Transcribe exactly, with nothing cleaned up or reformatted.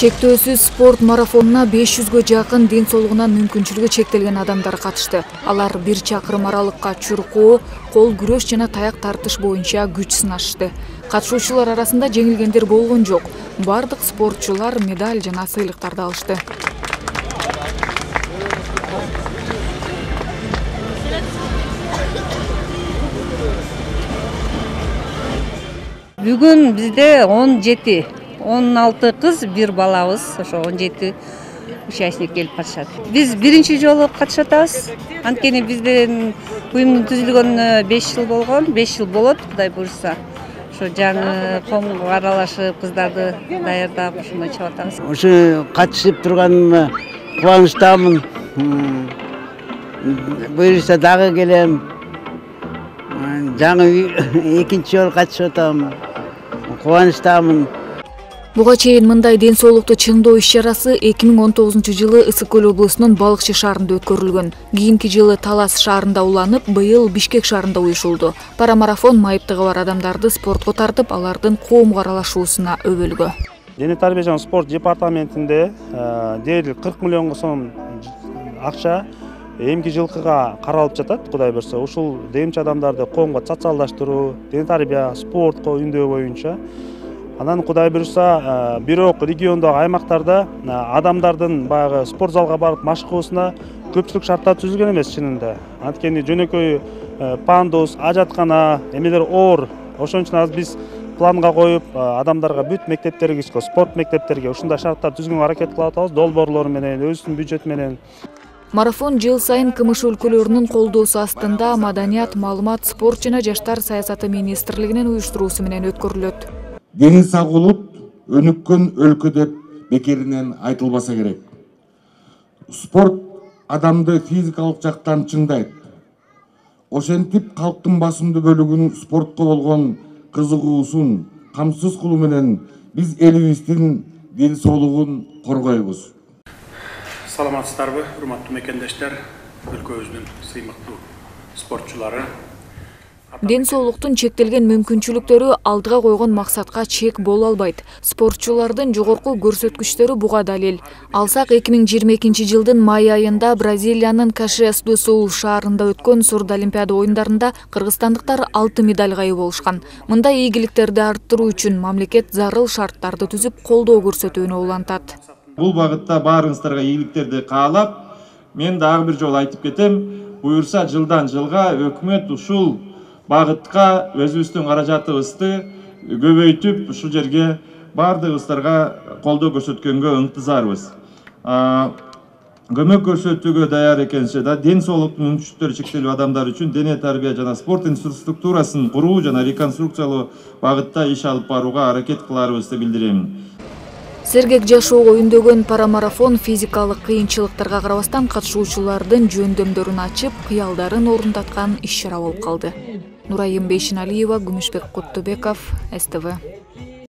Чектөөсүз спорт марафонуна беш жүзгө жакын ден соолугунан мүмкүнчүлүгү чектелген адамдар катышты. Алар бир чакырым аралыкка чуркоо, кол күрөш жана таяк тартыш боюнча күч сынашты. Катышуучулар арасында жеңилгендер болгон жок. Бардык спортчулар медаль жана сыйлыктарды алышты. Бүгүн бизде он жети, он алты кыз, бир балабыз, ошо он жети участник келип катышат. Биз биринчи жолу катышып атабыз. Анткени биздин уюмдун түзүлгөнүнө беш жыл болгон, беш жыл болот, Кудай буйрса. Ошо жаңы коомго аралашып, кыздарды даярдап, ошондой чыгып атабыз. Ошо катышып турганыма кубанычтамын. Буйрса дагы келем. Жаңы экинчи жолу катышып атам. Кубанычтамын. Буга чейин мындай ден соолукту чыңдоо иш-чарасы эки миң он тогузунчу жылы Ысык көл облусунун Балыкчы шаарында өткөрүлгөн. Кийинки жылы Талас шаарында уланып, быйыл Бишкек шаарында уюшулду. Парамарафон майыптыгы бар адамдарды спортко тартып, алардын коомго аралашуусуна өбөлгө. Дене тарбия жана спорт департаментинде дээрлик кырк миллионго сом акча эмки жылкыга каралып жатат, Кудай буйрса. Ушул демчи адамдарды коомго социалдаштыруу, дене тарбия, спортко үндөө боюнча. Анан Кудай буйрса, бирок региондогу аймактарда адамдардын баягы спорт залга барып машыгуусуна көпчүлүк шарттар түзүлгөн эмес чынында. Анткени жөнөкөй пандус, ажаткана, эмелер оор. Ошон үчүн азыр биз планга коюп, адамдарга бүт мектептерге, спорт мектептерге ушундай шарттар түзгөнгө аракет кылып атабыз, долбоорлор менен, өзүбүздүн бюджет менен. Марафон жыл сайын КМШ өлкөлөрүнүн колдоосу астында Маданият, маалымат, спорт жана жаштар саясаты министрлигинин уюштуруусу менен өткөрүлөт. Дени сагылып, өнүккөн өлкө деп бекеринен айтылбаса керек. Спорт адамды физикалык жактан чыңдайт. Ошентип калктын басымдуу бөлүгүнүн спортко болгон кызыгуусун камсыз кылуу менен биз элибиздин ден соолугун коргойбуз. Саламатсыздарбы, урматтуу мекендештер, өлкөбүздүн сыймыктуу спортчулары. Ден соолуктун чектелген мүмкүнчүлүктөрү алдыга койгон максатка чек боло албайт. Спортчулардын жогорку көрсөткүчтөрү буга далил. Алсак эки миң жыйырма экинчи жылдын май айында Бразилиянын Кашиас-ду-Сул шаарында өткөн Сурдолимпиада оюндарында кыргызстандыктар алты медалга ээ болушкан. Мындай ийгиликтерди арттыруу үчүн мамлекет зарыл шарттарды түзүп, колдоо көрсөтүүнү улантат. Бул багытта баарыңыздарга ийгиликтерди каалап, мен дагы бир жолу айтып кетем, буюрса жылдан жылга өкмөт ушул багытка өзүбүздүн каражатыбызды көбөйтүп, ушул жерге баардыгыбыздарга колдоо көрсөткөнгө ынтызарбыз. Көмөк көрсөтүүгө даяр экенсе да, ден соолуктун мүмкүнчүлүктөрү чектелүү адамдар үчүн дене тарбия жана спорт инфраструктурасын куруу жана реконструкциялоо багытта иш алып барууга аракет кыларыбызды билдирем. Сергек жашоого үндөгөн парамарафон физикалык кыйынчылыктарга карабастан катышуучулардын жөндөмдөрүн ачып, кыялдарын орундаткан иш-чара болуп калды. Нурайым Бейшеналиева, Күмүшбек Куттубеков, С Т В.